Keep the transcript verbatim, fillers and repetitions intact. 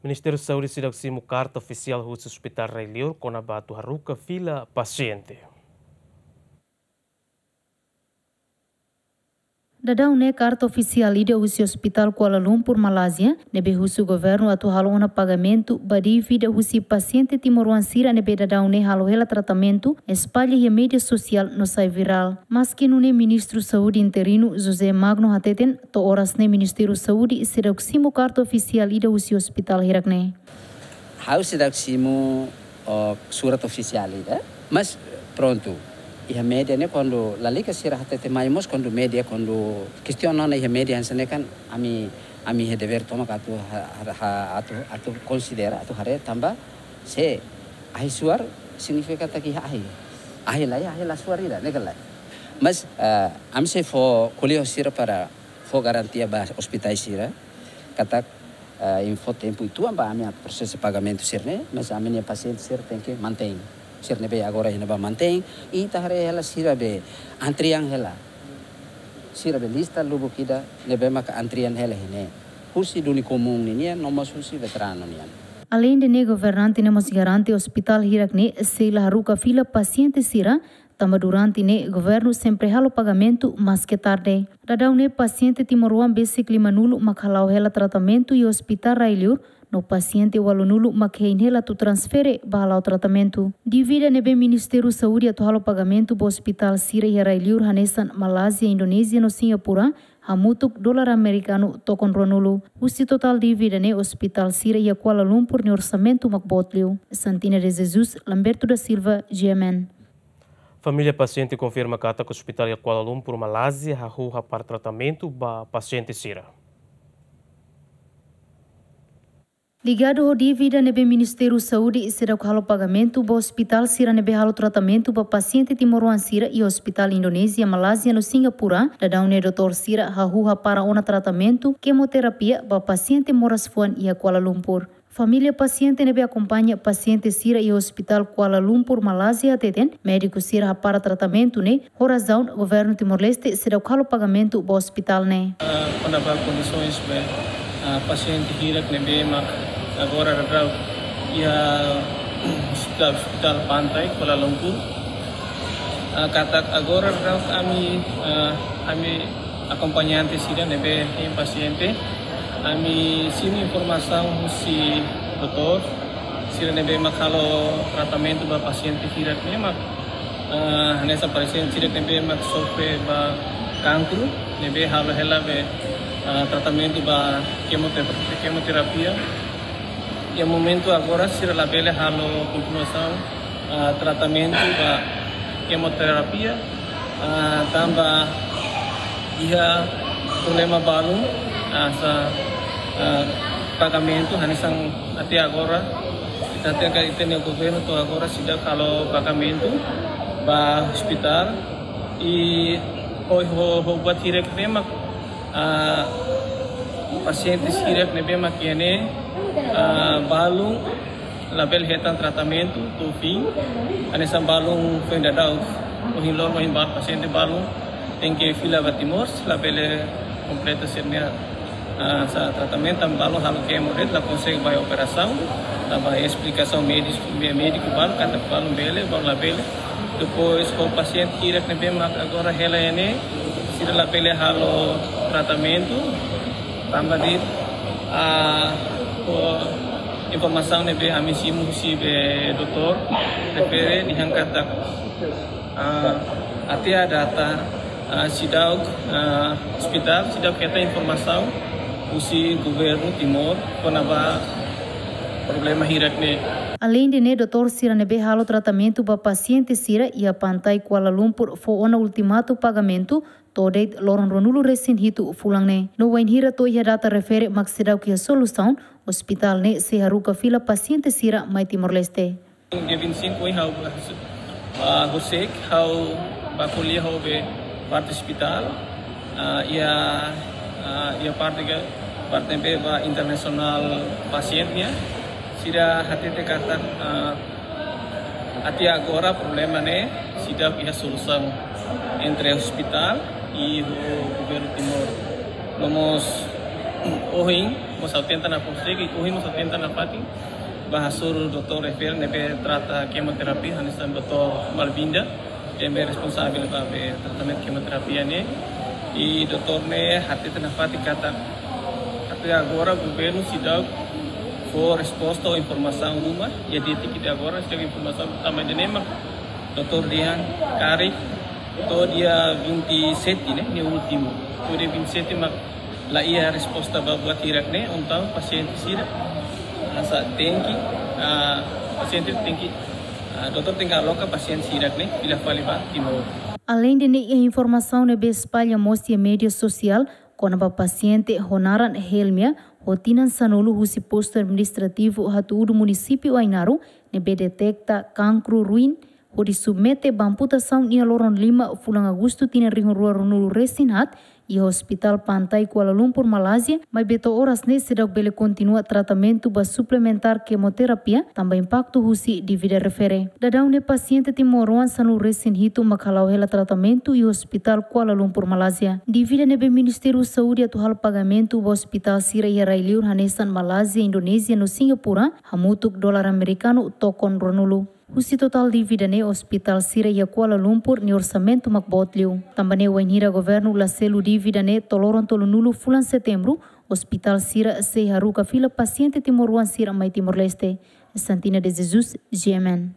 Ministériu Saúde seidauk simu karta ofisiál husi Hospitál Rai Liur kona-ba atu haruka fila pasiente. Daudaun ne'e karta ofisiál ida husi Hospitál Kuala Lumpur, Malázia, ne'ebé husu governu atu halo ona pagamentu ba dívida husi pasiente timoroan sira ne'ebé daudaun ne'e halo hela tratamentu, espalla iha média sosiál no sai virál. Maski nune'e, Ministru Saúde interinu José Magno hateten, to'o oras ne'e Ministériu Saúde seidauk simu karta ofisiál ida husi hospitál hirak ne'e. Ha'u seidauk simu, oh, surat ofisiál ida, mas prontu. Iha média ne'e kuandu lalika sira hatete mai mós kuandu média kuandu kestiona ona iha média hanesan ne'e kan ami, ami iha devér tomak atu ha-, ha-, ha-, atu, atu konsidera, atu haree tanba se ahi suar signifika katak iha ahi. Ahi la iha, ahi la suar ida, ne'e ka lae. Mas, eh, ami sei fó ko'alia ho sira para fó garantia ba ospitais sira katak, eh, imi fó tempu uitoan ba ami atu prosesa pagamentu sira-ne'e, mas ami-nia pasiente sira tenke mantein. Sira ne'ebé agora iha ne'ebá mantein, i ita haree hela sira be antrian hela. Sira be lista lubuk ida ne'ebé maka antrian hela iha ne'e. Husi duni komún ninian, no mós husi veteranu nian. Aleinde ne'e, governante ne'e mós garante ospitál hirak ne'e sei la haruka fila pasiente sira, tanba durante ne'e governu sempre halo pagamentu maske tarde. Daudaun ne'e pasiente timoroan besik limanulu mak hala'o hela tratamentu iha Hospitál Rai Liur, no pasiente ualunulu mak hein hela atu transfere ba hala'o tratamentu. Dívida ne'ebé Ministériu Saúde atu halo pagamentu ba ospitál sira iha Rai Liur hanesan Malázia, Indonézia no Singapura, hamutuk dolar amerikanu tokon ruanulu. Husi totál dívida ne'e, ospitál sira iha Kuala Lumpur nia orsamentu mak boot liu. Santina de Jesus, Lamberto da Silva, G M N. Família pasiente konfirma katak ospitál iha Kuala Lumpur, Malázia, hahú hapara tratamentu ba pasiente sira. Ligadu ho dívida ne'ebé Ministériu Saúde seidauk halo pagamentu ba ospitál sira ne'ebé halo tratamentu ba pasiente timoroan sira iha ospitál Indonézia, Malázia no Singapura, daudaun ne'e doutór sira hahú hapara ona tratamentu kemoterapia ba pasiente moras fuan iha Kuala Lumpur. Família pasiente ne'ebé akompaña pasiente sira iha Hospitál Kuala Lumpur, Malázia hateten, médiku sira hapara tratamentu ne'e ho razaun governu Timor-Leste seidauk halo pagamentu ba ospitál ne'e. Ah, kona-ba kondisoens be, ah, pasiente hirak ne'ebé mak agora daudaun iha Hospitál, Hospitál Pantai Kuala Lumpur. Ah, katak agora daudaun ami, ah, ami akompañante sira ne'ebé hein pasiente, ami simu informasaun husi doutór sira ne'ebé mak halo tratamentu ba pasiente hirak ne'e mak, ah, hanesan pasiente sira ne'ebé mak sofre ba kankru, ne'ebé halo hela be, ah, tratamentu ba kemote-, kemoterapia. Iha momentu agora sira labele halo kontinuasaun, ah, tratamentu ba kemoterapia, ah, tanba iha problema balun, ah, sa, ah, pagamentu hanesan até agora. Ita hatene katak ita-nia governu to'o agora seidauk halo pagamentu ba ospitál i ho, ho, ho buat hirak ne'ebé mak, ah, pasiente sira ne'ebé mak iha ne'e, ah, balun labele hetan tratamentu to'o fin. Hanesan balun foin daudaun, ohin loron, ohin ba-, pasiente balun tenke fila ba Timor, labele kompleta sira-nia, ah, sa tratamentu, tanba balun halo kemo de'it, la konsege ba operasaun, tanba esplikasaun médiku, mé-, médiku balun, katak balun bele, balun labele. Depois ho pasiente hirak ne'ebé mak agora hela iha ne'e, sira labele halo tratamentu, tanba de'it, ah, ho informasaun ne'ebé ami simu husi be doutór refere dehan katak, ah, até à data, ah, seidauk, ah, ospitál seidauk hetan informasaun husi governu Timor kona-ba problema hirak ne'e. Aleinde ne'e, doutór sira ne'ebé halo tratamentu ba pasiente sira iha Pantai Kuala Lumpur fó ona ultimatu pagamentu to'o de'it loron ruanulu-resin-hitu fulan ne'e. No wainhira to'o iha data refere mak seidauk iha solusaun, ospitál ne'e sei haruka fila pasiente sira mai Timor-Leste. Dia vinte e cinco ohin ha'u, ah, horiseik ha'u bá ko'alia ho be parte ospitál, ah, iha, ah, iha parte ke, parte be ba internasionál pasiente nian. Sira hatete katak, ah, até agora problema ne'e seidauk iha solusaun entre ospitál i ho governu Timor. No mós ohin Mós hatenta nafatin, ohin mós hatenta nafatin, ba hasoru doutór refere ne'ebé trata kemoterapia, hanesan doutór Malvinda, ne'ebé responsavel ba be tratamentu kemoterapia ne'e. I doutór ne'e hateten nafatin katak até agora governu seidauk fó resposta ou informasaun ruma, i de'it ke até agora seidauk informasaun tanba ida-ne'e mak doutór dehan karik to'o dia vinte e sete ne'e, ne'e últimu. To'o dia vinte e sete mak la iha resposta ba buat hirak ne'e, entaun pasiente sira, ah, sa tenke, ah, pasiente tenke, ah, doutór tenke aloka pasiente sira ne'e fila fali ba Timor. Aleinde ne'e, iha informasaun ne'ebé espalla mós iha média sosiál kona-ba pasiente ho naran Helmia, ho tinan sanulu, husi postu administrativu Hatudu, munisípiu Ainaro, ne'ebé deteta kankru ruin, hodi submete ba amputasaun iha loron lima fulan Agostu tinan rihun rua ruanulu resin haat, iha Hospital Pantai, Kuala Lumpur, Malázia, maibé to'o oras ne'e seidauk bele kontinua tratamentu ba suplementár kemoterapia, tanba impaktu husi dívida refere. Daudaun ne'e pasiente timoroan sanulu resin hitu mak hala'o hela tratamentu iha Hospital Kuala Lumpur, Malázia. Dívida ne'ebé Ministériu Saúde atu halo pagamentu ba hospital sira iha rai-liur hanesan Malázia, Indonézia no Singapura, hamutuk dolar amerikanu tokon ruanulu. Husi totál dívida ne'e, hospital sira iha Kuala Lumpur nia orsamentu mak boot liu. Tanba ne'e, wainhira governu la selu dívida ne'e to'o loron tolunulu fulan Setembru, hospital sira sei haruka fila pasiente timoroan sira mai Timor-Leste. Santina de Jesus, G M N.